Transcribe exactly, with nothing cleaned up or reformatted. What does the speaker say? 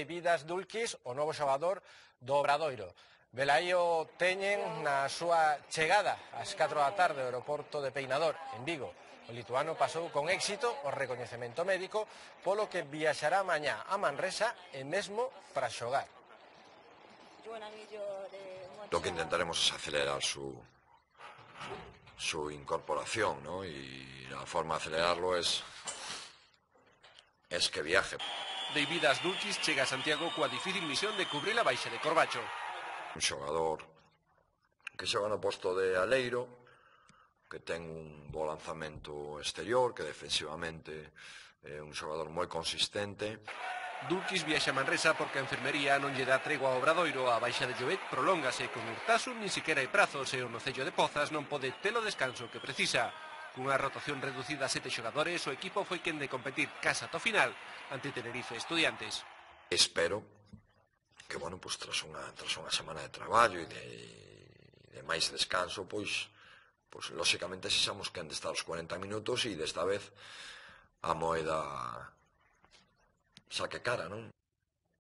Vidas Dulquis, o novo xogador do Obradoiro. Velaí o teñen na súa chegada ás catro da tarde ao aeroporto de Peinador, en Vigo. O lituano pasou con éxito o recoñecemento médico, polo que viaxará mañá a Manresa e mesmo para xogar. Lo que intentaremos es acelerar su, su incorporación, ¿no? Y la forma de acelerarlo es, es que viaje. Vidas Dulquis chega a Santiago coa difícil misión de cubrir a baixa de Corbacho. Un xogador que xoga no posto de aleiro, que ten un bo lanzamento exterior, que defensivamente é un xogador moi consistente. Dulquis viaxa a Manresa porque a enfermería non lle dá tregua ao Obradoiro. A baixa de Llobet prolóngase con Urtasun, nin siquiera hai prazos, e o Nocello de Pozas non pode ter o descanso que precisa. Cunha rotación reducida a sete xogadores, o equipo foi quen de competir casa ata o final ante Tenerife e Estudiantes. Espero que, bueno, pues, tras unha, tras unha semana de traballo e de, de máis descanso, pois, pois lóxicamente sexamos quen de estar os cuarenta minutos e desta vez a moeda saque cara, non?